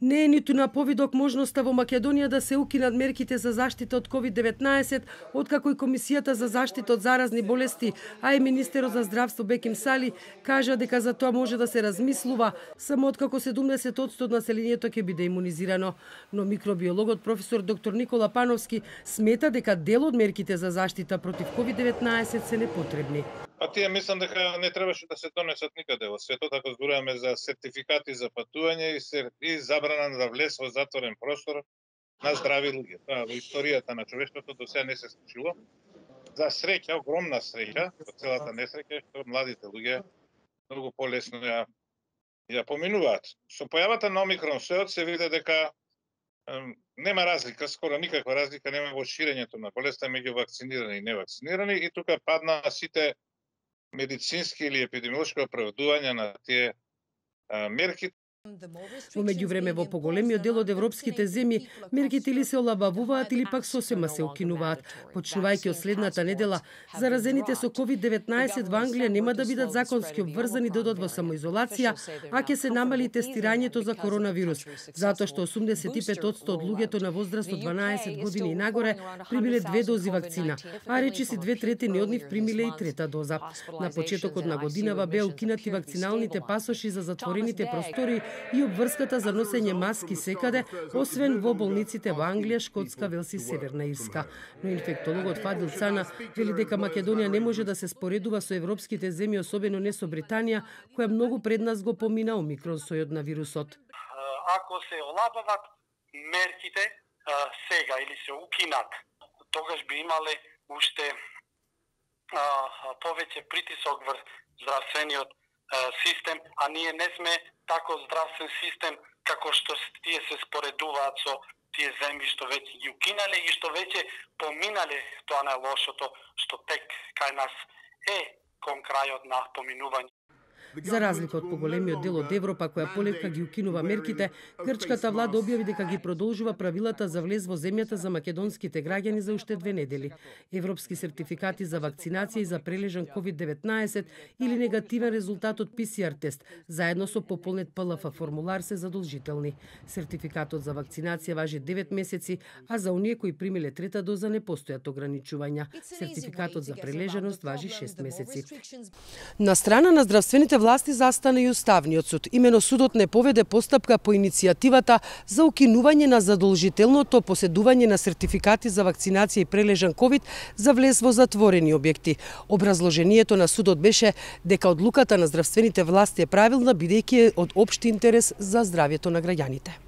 Не е ниту на повидок можноста во Македонија да се укинат мерките за заштита од COVID-19, откако и Комисијата за заштита од заразни болести, а и Министерот за здравство Беким Сали кажа дека за тоа може да се размислува, само откако 70% од населението ќе биде имунизирано. Но микробиологот професор доктор Никола Пановски смета дека дел од мерките за заштита против COVID-19 се непотребни. Тие мислам дека не требаше да се донесат никаде во светот, ако зборуваме за сертификати за патување и забрана за влез во затворен простор на здрави луѓе. Тоа во историјата на човештвото до сега не се случило. За среќа, огромна среќа, во целата несреќа, што младите луѓе многу полесно ја поминуваат. Со појавата на Омикрон сојот се види дека нема разлика, скоро никаква разлика нема во ширењето на болеста меѓу вакцинирани и невакцинирани, и тука падна сите медицински или епидемиолошки оправдувања на тие мерки. Во меѓувреме во поголемиот дел од европските земји мерките или се олабавуваат или пак сосема се укинуваат. Почнувајќи од следната недела, заразените со COVID-19 во Англија нема да бидат законски обврзани да одат во самоизолација, а ќе се намали тестирањето за коронавирус, затоа што 85% од луѓето на возраст од 12 години и нагоре примиле 2 дози вакцина, а речиси 2/3 од нив примиле и 3-та доза. На почетокот на годинава беа укинати вакциналните пасоши за затворените простори и обврската за носење маски секаде, освен во болниците во Англија, Шкотска, Велс и Северна Ирска. Но инфектологот Фадил Цана вели дека Македонија не може да се споредува со европските земји, особено не со Британија, која многу пред нас го помина омикрон сојот на вирусот. Ако се олабават мерките сега или се укинат, тогаш би имале уште повеќе притисок врз здравствениот систем, а ние не сме тако здравствен систем како што тие се споредуваат со тие земји што веќе ги укинале и што веќе поминале тоа најлошото што тек кај нас е кон крајот на поминување. За разлика од поголемиот дел од Европа која полека ги укинува мерките, грчката влада објави дека ги продолжува правилата за влез во земјата за македонските граѓани за уште 2 недели. Европски сертификати за вакцинација и за прележан COVID-19 или негативен резултат од PCR тест, заедно со пополнет ПЛФ формулар се задолжителни. Сертификатот за вакцинација важи 9 месеци, а за оние кои примиле 3-та доза не постојат ограничувања. Сертификатот за прележаност важи 6 месеци. На страна на здравствените власти застана и Уставниот суд. Имено судот не поведе постапка по иницијативата за укинување на задолжителното поседување на сертификати за вакцинација и прележан ковид за влез во затворени објекти. Образложението на судот беше дека одлуката на здравствените власти е правилна, бидејќи е од општи интерес за здравјето на граѓаните.